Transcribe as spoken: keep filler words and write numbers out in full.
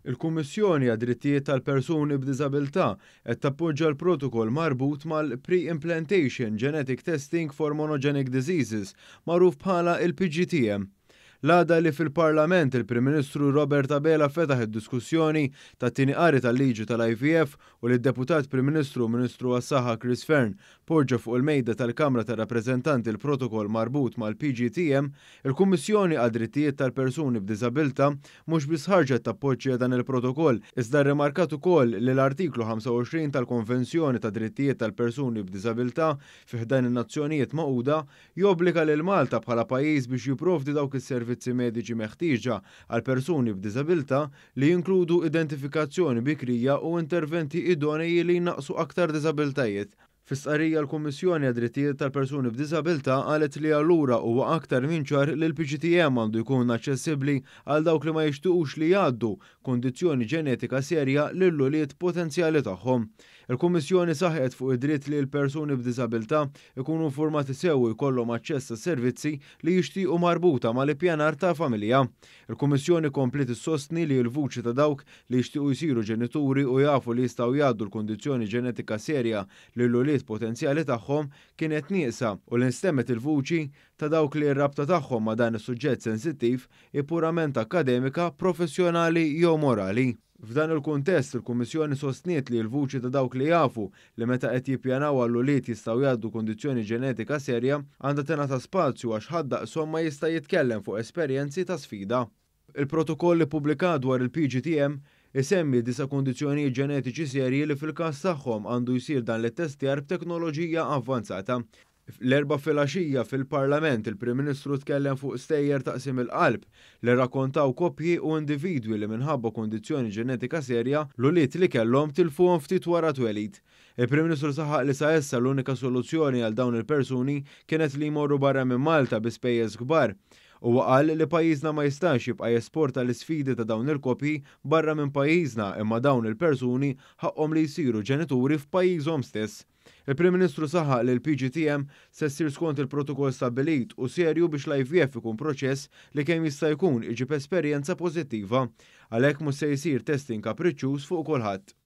Il-Kummissjoni għad-Drittijiet tal-Persuni b'Diżabilità qed tappoġġa l-protokoll marbut mal-Pre-Implantation Genetic Testing for Monogenic Diseases, magħruf bħala il-P G T M. L-għada li fil-Parlament il-Prim Ministru Robert Abela fetaħ id-diskussjoni tat-tieni qari tal-liġi tal-I V F u li d-Deputat Prim Ministru u Ministru għas-Saħħa Chris Fearne poġġa fuq il-mejda tal-Kamra tar-Rappreżentanti l-protokoll marbut mal-P G T M, il-Kummissjoni għad-Drittijiet tal-Persuni b'Diżabilità mhux biss ħarġet tappoġġja dan il-protokoll, iżda rrimarkat ukoll li l-artiklu ħamsa u għoxrin tal-Konvenzjoni ta' Drittijiet tal-Persuni b'Diżabilità fi ħdan in-Nazzjonijiet Magħquda jobbliga lil Malta bħala pajjiż biex jipprovdi dawk is-servizzi mediċi meħtieġa għal persuni b'diżabilità li jinkludu identifikazzjoni bikrija u interventi idonei li jnaqsu aktar diżabilitajiet. Fi stqarrija, l-Kummissjoni għad-Drittijiet tal-Persuni b'Diżabilità qalet li allura huwa aktar minn ċar li l-P G T M għandu jkun aċċessibbli għal dawk li ma jixtuqux li jgħaddu kondizzjoni ġenetika serja lill-ulied potenzjali tagħhom. Il-Kummissjoni saħqet fuq id-dritt li l-persuni b'diżabilità ikunu informati sew u jkollhom aċċess għas-servizzi li jixtiequ marbuta mal-ippjanar ta' familja. Il-Kummissjoni kompliet issostni li l-vuċi ta' dawk li jixtiequ jsiru ġenituri u jafu li jistgħu jgħaddu l-kondizzjoni ġenetika serja lill-ulied potenzjali tagħhom kienet nieqsa u li nstemmet il-vuċi ta' dawk li r-rabta tagħhom ma' dan is-suġġett sensittiv hi purament akademika, professjonali jew morali. F'dan il-kuntest, il-Kummissjoni sostniet li l-vuċi ta' dawk li jafu li meta qed jippjanaw għall-ulied jistgħu jgħaddu kondizzjoni ġenetika serja għandha tingħata spazju, għax ħadd daqshom ma jista' jitkellem fuq esperjenzi ta' sfida. Il-protokoll ippubblikat dwar il-P G T M isemmi disa' kondizzjonijiet ġenetiċi serji li fil-każ tagħhom għandu jsir dan l-testjar b'teknoloġija avvanzata. L-Erbgħa filgħaxija fil-Parlament, il-Prim Ministru tkellem fuq stejjer ta' qsim il-qalb li rrakkontaw koppji u individwi li minħabba kondizzjoni ġenetika serja l-ulied li kellhom tilfuhom ftit wara twelid. Il-Prim Ministru saħaq li sa issa l-unika soluzzjoni għal dawn il-persuni kienet li jmorru barra minn Malta bi spejjeż kbar. U qal li pajjiżna ma jistax jibqa' jesporta l-isfidi ta' dawn il-koppji barra minn pajjiżna, imma dawn il-persuni ħaqhom li jsiru ġenituri f'pajjiżhom stess. Il-Prim Ministru saħaq li l-P G T M se ssir skont il-protokoll stabbilit u serju biex l-I V F ikun proċess li kemm jista' jkun iġib esperjenza pożittiva. Għalhekk mhux se jsir testing kapriċċuż fuq kulħadd.